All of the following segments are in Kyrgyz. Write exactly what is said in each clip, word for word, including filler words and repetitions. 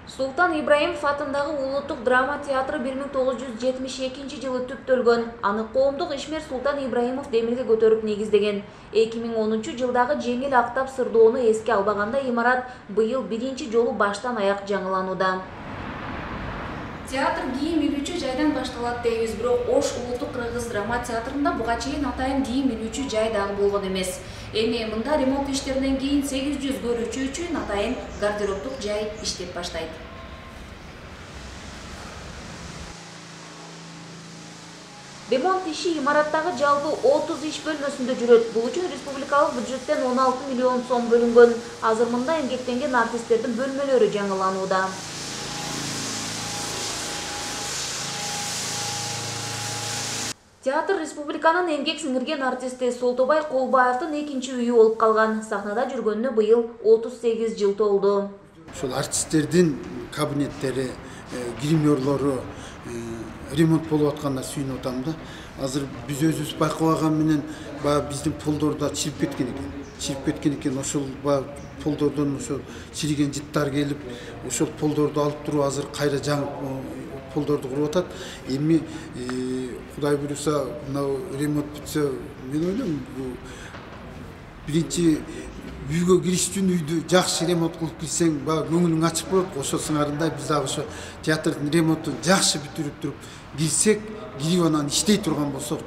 Султан Ибраимов атындагы улуттук драма театры бир миң тогуз жүз жетимиш экинчи жылы түптөлгөн. Аны коомдук ишмер Султан Ибраимов демирге көтөрүп негиздеген. эки миң онунчу жылдагы жеңил актап сырдоону эске албаганда имарат быйыл биринчи жолу баштан аяк жаңыланууда. Театр кийим илүүчү жайдан башталат дейбиз, бирок Ош улуттук кыргыз драма театрында буга чейин атайын кийим илүүчү жай дагы болгон эмес. Эми мында ремонт иштеринен кийин сегиз жүз көрүүчү үчүн атайын гардеробдук жай иштеп баштайт. Ремонт иши имараттагы жалпы отуз иш бөлмөсүндө жүрөт. Бул үчүн республикалык бюджеттен он алты миллион сом бөлүнгөн. Азыр мында эмгектенген артисттердин бөлмөлөрү жаңыланууда. Театр республиканын эмгек сиңирген артисти Солтобай Колбаевдин экинчи үйү болуп калган. Сахнада жүргөнүнө быйыл отуз сегиз жыл толду. Ошол артисттердин кабинеттери, гримерлору ремонт болуп атканына сүйүнүп атам да. Азыр биз өзүбүз байкабаган менен баягы биздин полдордо чирип кеткен экен. Чирип кеткен экен. Ошол баягы полдордон ошол чириген жыттар келип, ошол полдорду алып туруп азыр кайра жаңы полдорду куруп атат. Эми Кудай буюрса, мына ремонт бүтсө, мен ойлойм, бул биринчи үйгө кириш үчүн үйдү жакшы ремонт кылып кирсең, баягы көңүлүң ачык болот. Ошо сыңарында биз дагы ошо театрдын ремонтун жакшы бүтүрүп туруп кирсек, кирип анан иштей турган болсок,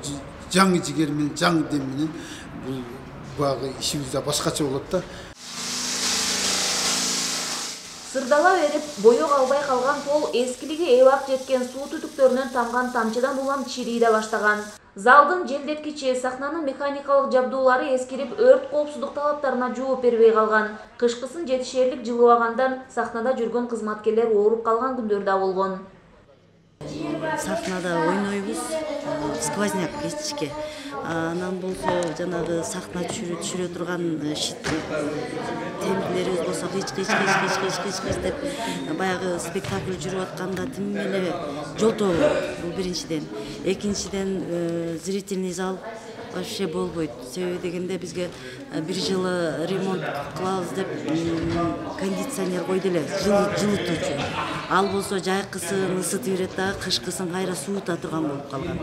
жаңы жигер менен, жаңы дем менен бул баягы ишибиз да башкача болот да. Сырдала берип, боек албай калган пол эскилиги эбак жеткен суу түтүктөрүнөн тамган тамчыдан улам чирий да баштаган. Залдын желдеткичи, сахнанын механикалык жабдуулары эскирип, өрт коопсуздук талаптарына жооп бербей калган. Кышкысын жетишерлик жылыбагандан сахнада жүргөн кызматкерлер ооруп калган күндөр да болгон. Сахнада ойнойбуз, сквозняк кечке. Анан болсо жанагы сахна түшүрө турган темирлерибиз болсо кыч кыч кыч кыч кыч кыч кыч деп баягы спектакль жүрүп атканда тим эле жолтобойт. Бул биринчиден. Экинчиден зрительный зал вообще болбойт. Себеби дегенде бизге бир жылы ремонт кылабыз деп кондиционер койду эле, жылытуучу. Ал болсо жайкысын ысытып берет да, кышкысын кайра суута турган болуп калган.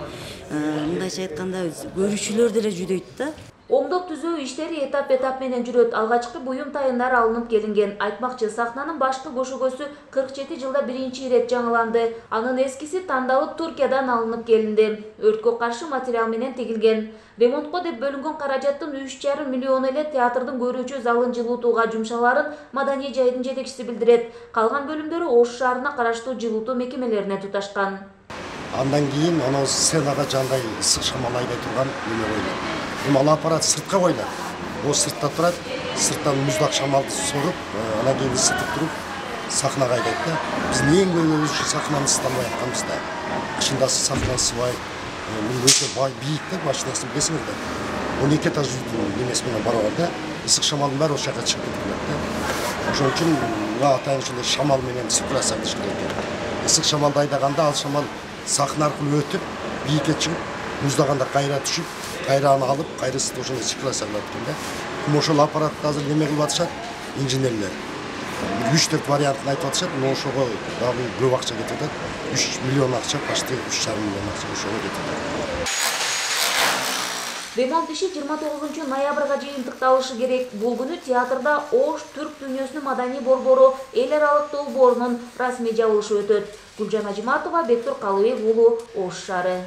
Мындайча айтканда көрүүчүлөр деле жүдөйт да. Оңдоп түзөө иштери этап-этап менен жүрөт. Алгачкы буюм тайындар алынып келинген. Айтмакчы, сахнанын башкы көшөгөсү кырк жети жылда биринчи ирет жаңыланды. Анын эскиси тандалып Туркиядан алынып келинди. Өрткө каршы материал менен тигилген. Ремонтко деп бөлүнгөн каражаттын үч жарым миллион эле театрдын көрүүчү залын жылытууга жумшаларын маданий жайдын жетекчиси билдирет. Калган бөлүмдөрү Ош шаарына караштуу жылытуу мекемелерине туташкан. Андан кийин анау сценага жандай ысык шамал айдай турган неме койулат. Эми ал аппарат сыртка коюлат. О сыртта турат, сырттан муздак шамалды соруп, анан кийин ысытып туруп сахнага айдайт да. Биз эң көбү сахнаны ысыталбай атканбыз да. Кышында сахна ысыбай, өтө бийик да, башынасы билесиңер да. он эки этаж немеси менен барабар да. Ысык шамалдын баары ошол жака чыгып кетет да. Ошон үчүн атайын ушундай шамал менен циркуляция кылыш керек экен. Ысык шамалды айдаганда ал шамал сахна аркылуу өтүп, бийикке чыгып, муздаганда кайра түшүп, кайра аны алып, кайра ысытып ошондой циркуляция кылат экен да. Эми ошол аппаратты азыр неме кылып атышат, инженерлер. үч төрт вариантын айтып атышат, но ошого дагы көп акча кетип атат. үч миллион акча, почти үч жарым миллион акча ошого кетип атат. Ремонт иши жыйырма тогузунчу ноябрга чейин тыкталышы керек. Бул күнү театрда Ош түрк дүйнөсүнүн маданий борбору эл аралык долбоорунун расмий жабылышы өтөт. Гүлжан Ажиматова, Бектур Калыбек уулу, Ош шаары.